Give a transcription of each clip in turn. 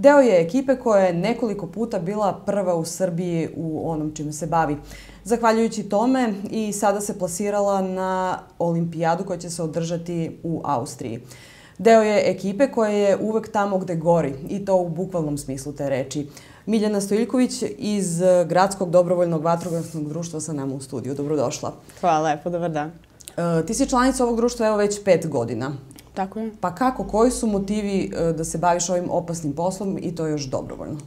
Deo je ekipe koja je nekoliko puta bila prva u Srbiji u onom čime se bavi. Zahvaljujući tome i sada se plasirala na olimpijadu koja će se održati u Austriji. Deo je ekipe koja je uvek tamo gde gori i to u bukvalnom smislu te reči. Miljana Stojiljković iz Gradskog dobrovoljnog vatrogasnog društva sa nama u studiju. Dobrodošla. Hvala lepo, dobar dan. Ti si članica ovog društva evo već 5 godina. Tako je. Pa kako, koji su motivi da se baviš ovim opasnim poslom i to još dobrovoljno?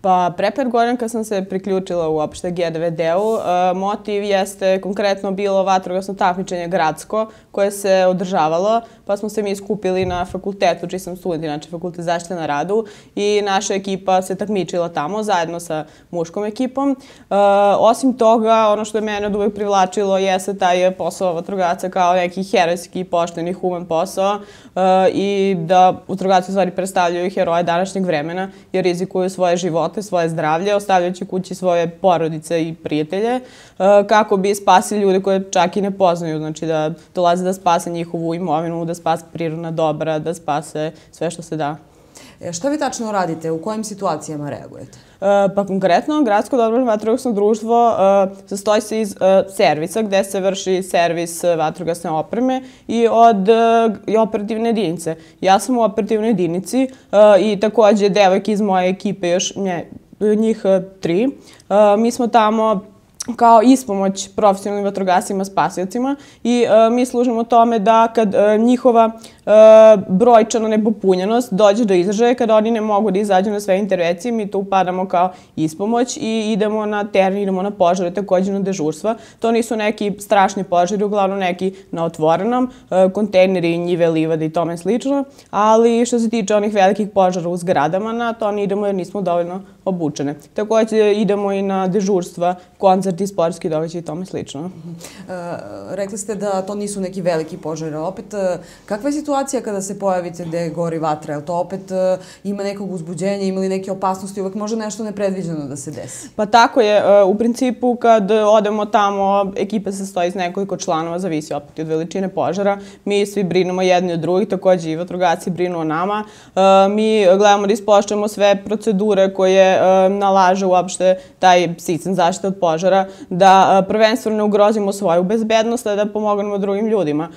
Pa pre 5 godina kad sam se priključila uopšte GDVD-u, motiv jeste konkretno bilo vatrogasno takmičenje gradsko koje se održavalo, pa smo se mi skupili na fakultetu, čiji sam student, inače fakultet zaštite na radu, i naša ekipa se takmičila tamo zajedno sa muškom ekipom. Osim toga, ono što je mene od uvek privlačilo jeste taj posao vatrogasca kao neki herojski, pošteni, human posao i da vatrogasci u stvari predstavljaju heroje današnjeg vremena jer rizikuju svoje živote, svoje zdravlje, ostavljajući kući svoje porodice i prijatelje, kako bi spasili ljude koje čak i ne poznaju, znači da dolaze da spase njihovu imovinu, da spase prirodna dobra, da spase sve što se da. Šta vi tačno radite? U kojim situacijama reagujete? Pa konkretno, Gradsko dobrovoljno vatrogasno društvo sastoji se iz servisa gde se vrši servis vatrogasne opreme i od operativne jedinice. Ja sam u operativnoj jedinici i takođe devojke iz moje ekipe, još njih 3. Mi smo tamo kao ispomoć profesionalnim vatrogascima, spasiocima i mi služimo tome da kad njihova brojčana nepopunjenost dođe do izražaja, kada oni ne mogu da izađu na sve intervencije, mi tu upadamo kao ispomoć i idemo na teren, idemo na požare, takođe na dežurstva. To nisu neki strašni požari, uglavnom neki na otvorenom, kontejneri, njive, livade i tome slično, ali što se tiče onih velikih požara u zgradama, na to ne idemo jer nismo dovoljno obučene. Takođe idemo i na dežurstva, koncerti, sportski događaji i tome slično. Rekli ste da to nisu neki veliki požari, opet kakva je situacija kada se pojavite gde gori vatra? Je li to opet ima nekog uzbuđenja, ima li neke opasnosti, uvek može nešto nepredviđeno da se desi? Pa tako je. U principu kad odemo tamo, ekipa se sastoji iz nekoliko članova, zavisi opet od veličine požara. Mi svi brinemo jedni od drugih, takođe i vatrogasci brinu o nama. Mi gledamo da ispoštujemo sve procedure koje nalaže uopšte taj sistem zaštite od požara, da prvenstveno ne ugrozimo svoju bezbednost, a da pomognemo drugim ljudima.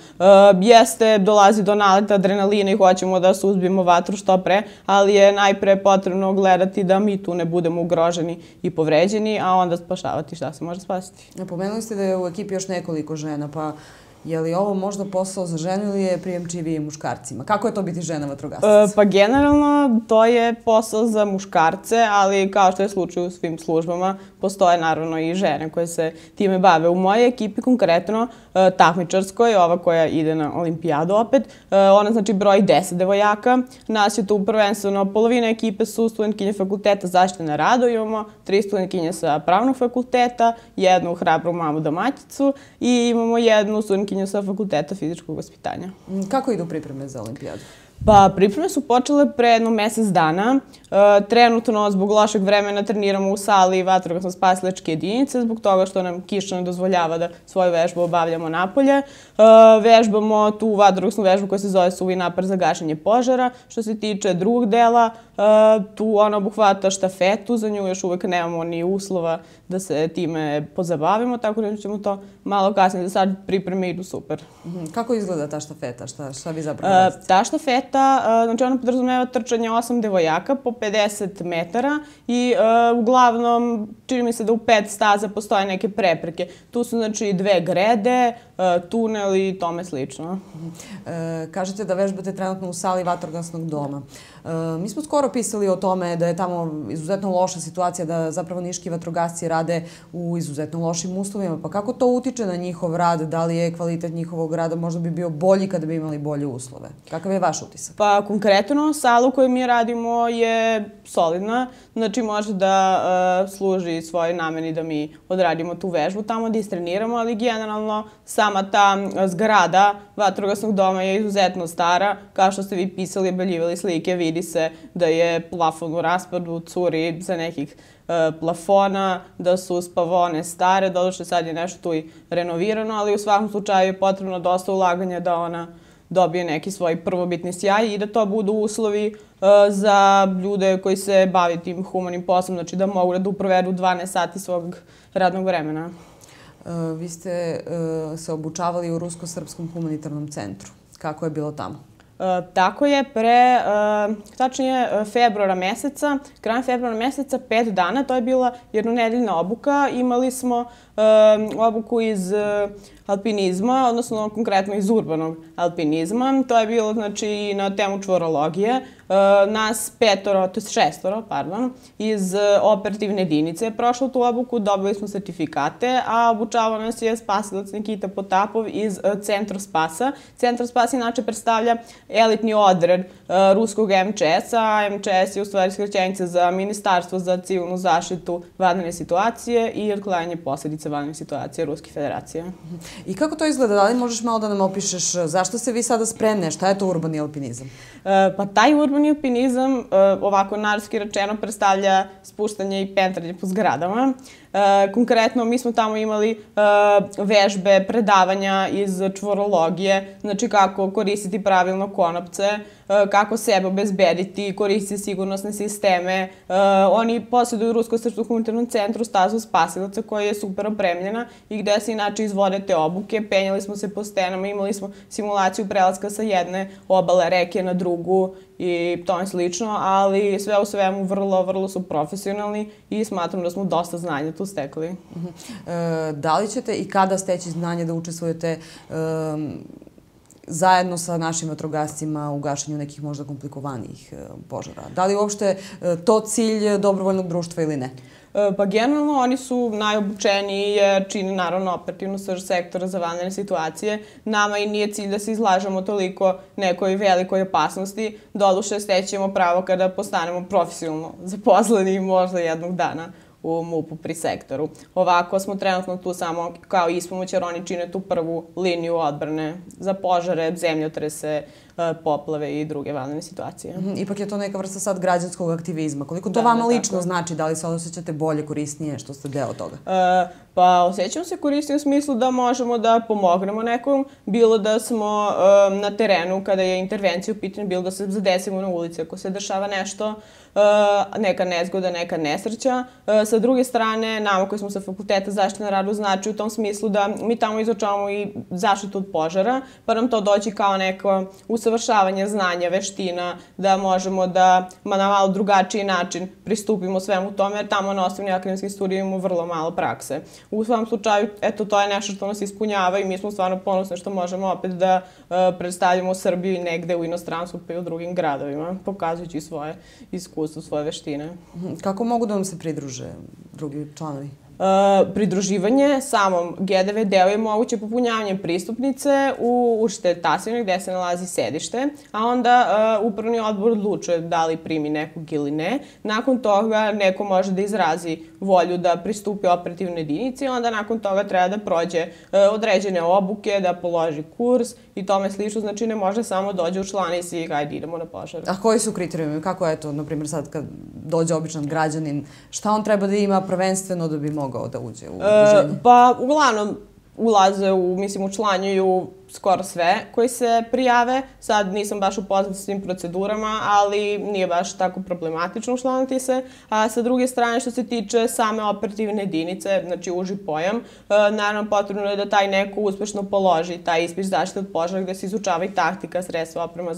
Jeste, dolazi do naleta adrenalina i hoćemo da suzbijemo vatru što pre, ali je najpre potrebno gledati da mi tu ne budemo ugroženi i povređeni, a onda spašavati šta se može spasiti. Pomenuli ste da je u ekipi još nekoliko žena, pa je li ovo možda posao za ženu ili je prijemčiviji muškarcima? Kako je to biti žena vatrogasnica? Pa generalno to je posao za muškarce, ali kao što je slučaj u svim službama, postoje naravno i žene koje se time bave. U mojoj ekipi konkretno, takmičarskoj, ova koja ide na olimpijadu opet, ona znači broji 10 devojaka. Nas je tu prvenstveno polovina ekipe su studentkinje fakulteta zaštite na radu, imamo 3 studentkinje sa pravnog fakulteta, jednu hrabru mamu domaćicu i imamo jednu studentkinju sa fakulteta fizičkog vaspitanja. Kako idu pripreme za olimpijadu? Pa pripreme su počele pre jedno mesec dana. Trenutno, zbog lošeg vremena, treniramo u sali vatrogasno-spasilačke jedinice, zbog toga što nam kiša ne dozvoljava da svoju vežbu obavljamo napolje. Vežbamo tu vatrogasnu vežbu koja se zove suvi napar za gašenje požara. Što se tiče drugog dela, tu ona obuhvata štafetu, za nju još uvek nemamo ni uslova da se time pozabavimo, tako da ćemo to malo kasnije, da sad pripreme idu super. Kako izgleda ta štafeta? Šta vi zapravo radite? Ta štafeta, znači ona podrazumeva trčanje 8 devojaka po 50 metara i uglavnom čini mi se da u 5 staza postoje neke prepreke. Tu su znači 2 grede, tunel i tome slično. Kažete da vežbate trenutno u sali vatrogasnog doma. Mi smo skoro pisali o tome da je tamo izuzetno loša situacija, da zapravo niški vatrogasci rade u izuzetno lošim uslovima. Pa kako to utiče na njihov rad? Da li je kvalitet njihovog rada možda bi bio bolji kada bi imali bolje uslove? Kakav je vaš utisak? Pa konkretno, sala u kojoj mi radimo je solidna. Znači može da služi svojoj nameni da mi odradimo tu vežbu tamo, da istreniramo, ali generalno sama ta zgrada vatrogasnog doma je izuzetno stara. Kao što ste vi pisali, obeljivali slike, vidi se da je plafon u raspadu, curi za nekih plafona, da su spavone stare, doduše sad je nešto tu i renovirano, ali u svakom slučaju je potrebno dosta ulaganja da ona dobije neki svoj prvobitni sjaj i da to budu uslovi za ljude koji se bave tim humanim poslom, znači da mogu da provedu 12 sati svog radnog vremena. Vi ste se obučavali u Rusko-srpskom humanitarnom centru. Kako je bilo tamo? Tako je, tačnije februara meseca, krajem februara meseca, 5 dana, to je bila jednonedeljna obuka. Imali smo obuku iz alpinizma, odnosno konkretno iz urbanog alpinizma. To je bilo znači na temu čvorologije. Nas šestoro, iz operativne jedinice je prošlo tu obuku, dobili smo sertifikate, a obučavao nas je spasilac Nikita Potapov iz Centra Spasa. Centar Spas inače predstavlja elitni odred ruskog MČS-a, a MČS je u stvari skraćenica za Ministarstvo za civilnu zaštitu vanredne situacije i otklanjanje posljedica vanrednih situacija Ruske federacije. I kako to izgleda? Da li možeš malo da nam opišeš zašto se vi sada spremne? Šta je to urbani alpinizam? Pa taj urbani alpinizam, ovako narodski rečeno, predstavlja spuštanje i pentranje po zgradama. Konkretno, mi smo tamo imali vežbe, predavanja iz čvorologije, znači kako koristiti pravilno konopce, kako sebe obezbediti, koristiti sigurnosne sisteme. Oni posjeduju u Rusko-srpskom humanitarnom centru stazu spasilaca koja je super opremljena i gde se inače izvode te obuke. Penjali smo se po stenama, imali smo simulaciju prelaska sa jedne obale reke na drugu i tome slično, ali sve u svemu vrlo su profesionalni i smatram da smo dosta znanja tu stekli. Da li ćete i kada steći znanje da učestvujete zajedno sa našim vatrogascima u gašenju nekih možda komplikovanijih požara? Da li uopšte to cilj dobrovoljnog društva ili ne? Pa generalno oni su najobučeniji jer čini naravno operativnu srž sektora za vanredne situacije. Nama i nije cilj da se izlažemo toliko nekoj velikoj opasnosti. Doduše stećemo pravo kada postanemo profesionalno zaposleni možda jednog dana u MUP-u pri sektoru. Ovako smo trenutno tu samo kao ispomoć jer oni čine tu prvu liniju odbrane za požare, zemljotrese, poplave i druge vanredne situacije. Ipak je to neka vrsta sad građanskog aktivizma. Koliko to vama lično znači? Da li se osjećate bolje, korisnije što ste deo toga? Pa osjećam se korisnije u smislu da možemo da pomognemo nekom, bilo da smo na terenu kada je intervencija u pitanju, bilo da se zadesimo na ulici ako se dešava nešto, neka nezgoda, neka nesreća. Sa druge strane, nama koji smo sa Fakulteta zaštite na radu znači u tom smislu da mi tamo izučavamo i zaštitu od požara, pa nam to doći kao neko usavršavanje znanja, veština, da možemo da na malo drugačiji način pristupimo svemu tome, jer tamo na osnovnim akademskim studijima imamo vrlo malo prakse. U svom slučaju, eto, to je nešto što nas ispunjava i mi smo stvarno ponosni što možemo opet da predstavljamo Srbiju i negde u inostranstvu pa i u drugim gradovima, pokazujući svoje iskustvo, svoje veštine. Kako mogu da vam se pridruže drugi članovi? Pridruživanje samom GDV-deu je moguće popunjavanjem pristupnice u učitelj Tasovine gde se nalazi sedište, a onda upravni odbor odlučuje da li primi nekog ili ne. Nakon toga neko može da izrazi volju da pristupi operativnoj jedinici, onda nakon toga treba da prođe određene obuke, da položi kurs i tome slično, znači ne može samo dođe u člana i svi hajde idemo na požar. A koji su kriterijumi? Kako je to, na primjer, sad kad dođe običan građanin, šta on treba da ima prvenstveno da bi mogao da uđe u udruženje? Pa uglavnom ulaze učlanjuju skoro sve koji se prijave. Sad nisam baš upoznata s svim procedurama, ali nije baš tako problematično učlaniti se. A sa druge strane, što se tiče same operativne jedinice, znači uži pojam, naravno potrebno je da taj neko uspešno položi taj ispit zaštite od požara gde se izučava i taktika, sredstva, oprema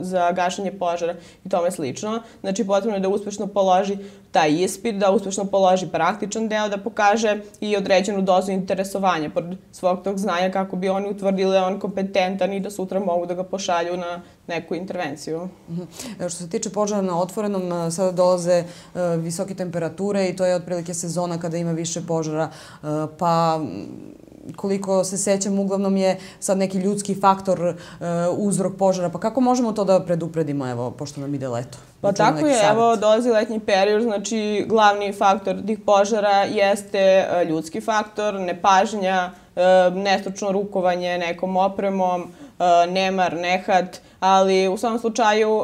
za gašenje požara i tome slično. Znači potrebno je da uspešno položi taj ispit, da uspešno položi praktičan deo, da pokaže i određenu dozu interesovanja pored svog tog znanja kako bi oni utvrdili da je on kompetentan i da sutra mogu da ga pošalju na neku intervenciju. Što se tiče požara na otvorenom, sada dolaze visoke temperature i to je otprilike sezona kada ima više požara, pa koliko se sećam, uglavnom je sad neki ljudski faktor uzrok požara, pa kako možemo to da predupredimo, evo, pošto nam ide leto? Pa tako je, evo, dolazi letnji period, znači glavni faktor tih požara jeste ljudski faktor, nepažnja, nestručno rukovanje nekom opremom, nemar, nehat, ali u svom slučaju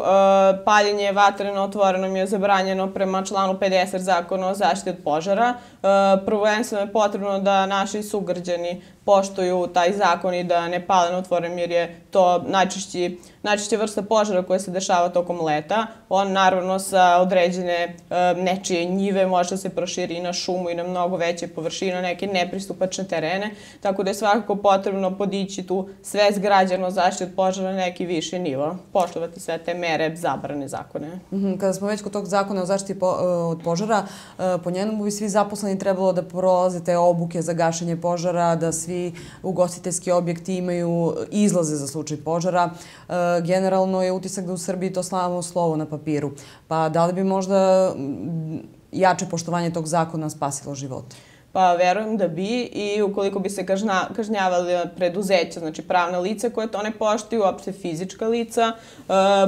paljenje vatre na otvorenom je zabranjeno prema članu 50 Zakona o zaštiti od požara. Prvenstveno je potrebno da naši sugrađani poštuju taj zakon i da ne pale na otvorenom, jer je to najčešće vrsta požara koja se dešava tokom leta. On naravno sa određene nečije njive može da se proširi i na šumu i na mnogo veće površine, na neke nepristupačne terene, tako da je svakako potrebno podići tu svest građana o zaštiti od požara na neki viši nivo, poštovati sve te mere, zabrane, zakone. Kada smo već kod tog zakona o zaštiti od požara, po njemu bi svi zaposleni trebalo da prolaze te obuke za gašenje požara, da svi ugostiteljski objekti imaju izlaze za slučaj požara. Generalno je utisak da u Srbiji to samo slovo na papiru. Pa da li bi možda jače poštovanje tog zakona spasilo živote? Pa verujem da bi, i ukoliko bi se kažnjavali preduzeća, znači pravna lica koje to ne poštuju, uopšte fizička lica,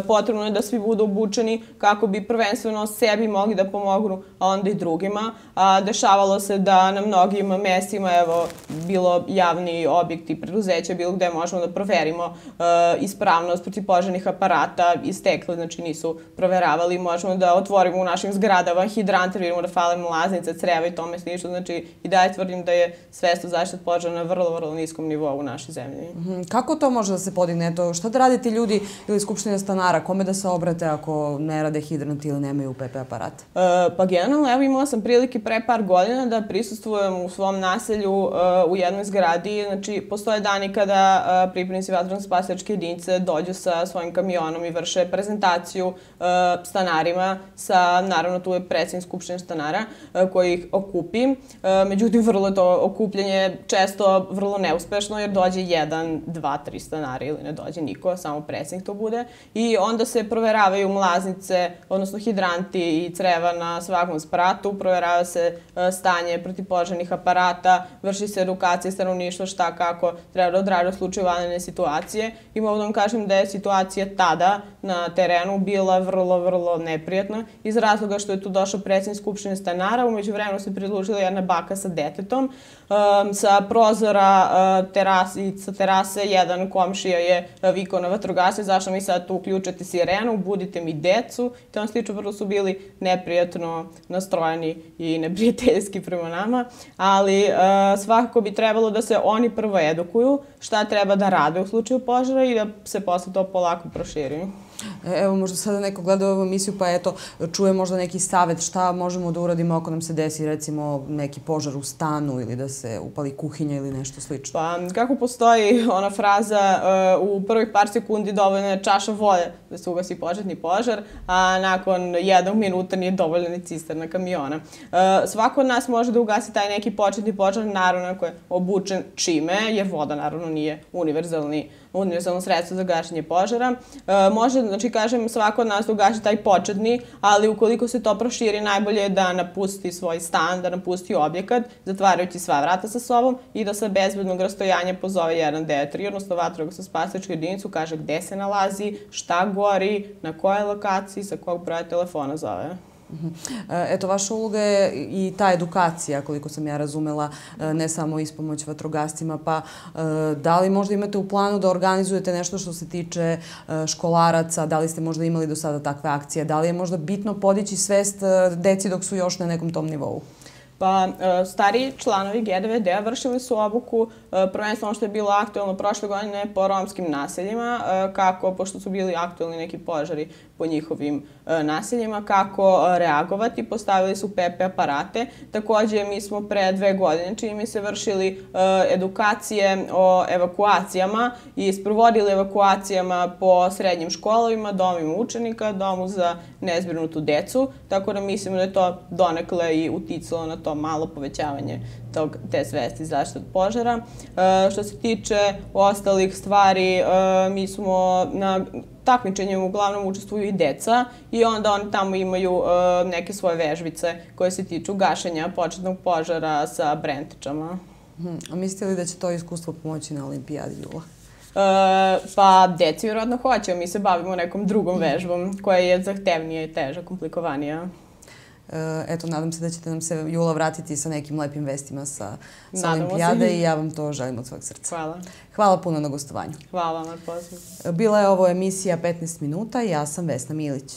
potrebno je da svi budu obučeni kako bi prvenstveno sebi mogli da pomognu, a onda i drugima. Dešavalo se da na mnogim mestima, evo, bilo javni objekti preduzeća, bilo gde možemo da proverimo ispravnost protivpožarnih aparata istekli, znači nisu proveravali, možemo da otvorimo u našim zgradama hidrante, vidimo da fale mlaznice, creva i tome slično, znači i dalje tvrdim da je svest o zaštiti od požara na vrlo, vrlo niskom nivou u našoj zemlji. Kako to može da se podigne? Šta da rade ti ljudi ili skupština stanara? Kome da se obrate ako ne rade hidranti ili nemaju UPP aparat? Pa generalno, evo, imala sam prilike pre par godina da prisustvujem u svom naselju u jednoj zgradi. Znači, postoje dani kada pripadnici vatrogasno-spasilačke jedinice dođu sa svojim kamionom i vrše prezentaciju stanarima. Naravno, tu je predsednik skupštine stanara koji ih okupi. Međutim, vrlo je to okupljanje često vrlo neuspešno, jer dođe 1, 2, 3 stanari ili ne dođe niko, samo predsednik to bude. I onda se proveravaju mlaznice, odnosno hidranti i creva na svakom spratu, proverava se stanje protivpožarnih aparata, vrši se edukacija stanovništva šta kako treba da odradi u slučaju vanredne situacije. I mogu da vam kažem da je situacija tada na terenu bila vrlo, vrlo neprijatna iz razloga što je tu došao predsednik skupštine stanara, umeđu vremenu se pridružila jedna baka sa detetom. Sa prozora sa terase jedan komšija je vikao na vatrogasce, zašto mi sad tu uključate sirenu, budite mi decu. I to slično, vrlo su bili neprijatno nastrojeni i neprijateljski prema nama, ali svakako bi trebalo da se oni prvo edukuju šta treba da rade u slučaju požara i da se posle to polako proširi. Evo, možda sada neko gleda ovu emisiju pa eto, čuje možda neki savet šta možemo da uradimo ako nam se desi recimo neki požar u stanu ili da se upali kuhinja ili nešto slično. Pa kako postoji ona fraza u prvih par sekundi dovoljna je čaša vode da se ugasi početni požar, a nakon 1 minuta nije dovoljna ni cisterna kamiona. Svako od nas može da ugasi taj neki početni požar, naravno ako je obučen čime, jer voda naravno nije univerzalno sredstvo za gašenje požara. Može, znači kažem, svako od nas da ugaši taj početni, ali ukoliko se to proširi, najbolje je da napusti svoj stan, da napusti objekat, zatvarajući sva vrata sa sobom i da sa bezbednog rastojanja pozove 193, odnosno vatrogasno-spasilačku jedinicu, kaže gde se nalazi, šta gori, na kojoj lokaciji, sa kog broja telefona zove. Eto, vaša uloga je i ta edukacija, koliko sam ja razumela, ne samo ispomoć vatrogascima, pa da li možda imate u planu da organizujete nešto što se tiče školaraca, da li ste možda imali do sada takve akcije, da li je možda bitno podići svest deci dok su još na nekom tom nivou? Pa, stariji članovi GDVD-a vršili su obuku, prvenstveno što je bilo aktuelno prošle godine po romskim naseljima, pošto su bili aktuelni neki požari po njihovim naseljima, kako reagovati, postavili su PP aparate. Takođe, mi smo pre 2 godine, čini mi se, vršili edukacije o evakuacijama i sprovodili evakuacijama po srednjim školovima, domovima učenika, domu za nezbrinutu decu, tako da mislim da je to donekle i uticalo na to malo povećavanje te svesti zaštite od požara. Što se tiče ostalih stvari, mi smo na takmičenjima uglavnom učestvuju i deca i onda oni tamo imaju neke svoje vežbice koje se tiču gašenja početnog požara sa brentičama. A mislite li da će to iskustvo pomoći na olimpijadi jula? Pa, deci vjerojatno hoće, mi se bavimo nekom drugom vežbom koja je zahtevnija i teža, komplikovanija. Eto, nadam se da ćete nam se jula vratiti sa nekim lepim vestima sa olimpijade i ja vam to želim od svog srca. Hvala. Hvala puno na gostovanju. Hvala vam na pozivu. Bila je ovo emisija 15 minuta i ja sam Vesna Milić.